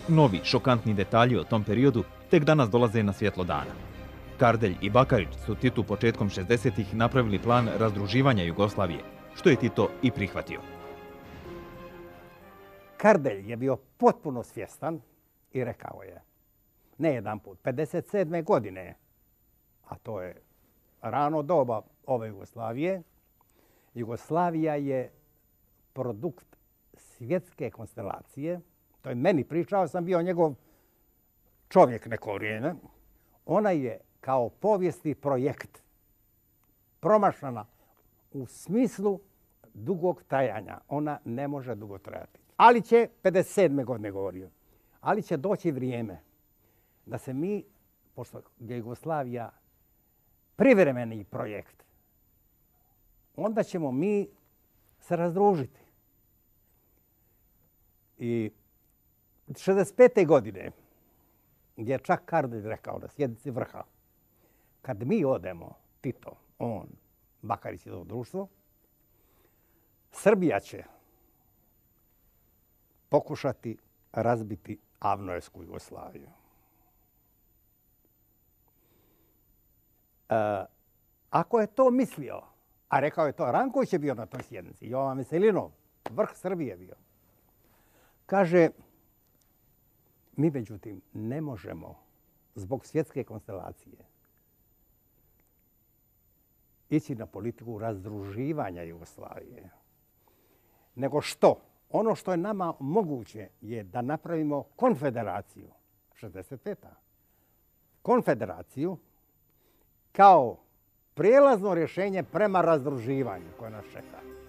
Novi, šokantni detalji o tom periodu tek danas dolaze na svjetlo dana. Kardelj i Bakarić su Titu početkom 60-ih napravili plan razdruživanja Jugoslavije, što je Tito i prihvatio. Kardelj je bio potpuno svjestan i rekao je, ne jedan put, 57. godine, a to je rano doba ove Jugoslavije, Jugoslavija je produkt svjetske konstelacije. To je meni pričao, sam bio njegov čovjek neko vrijeme. Ona je kao povijesni projekt promašana u smislu dugog trajanja. Ona ne može dugo trajati. Ali će, 57. godine govorio, ali će doći vrijeme da se mi, pošto je Jugoslavija privremeni projekt, onda ćemo mi se razdružiti. I 65. godine je čak Kardelj rekao na sjednici vrha, kad mi odemo, Tito, on, Bakarić i to društvo, Srbija će pokušati razbiti Avnojevsku Jugoslaviju. Ako je to mislio, a rekao je to, Ranković je bio na toj sjednici, Jovan Veselinov, vrh Srbije bio, kaže, mi međutim ne možemo zbog svjetske konstelacije ići na politiku razdruživanja Jugoslavije. Nego što? Ono što je nama moguće je da napravimo konfederaciju, 65. Konfederaciju kao prijelazno rješenje prema razdruživanju koje nas čeka.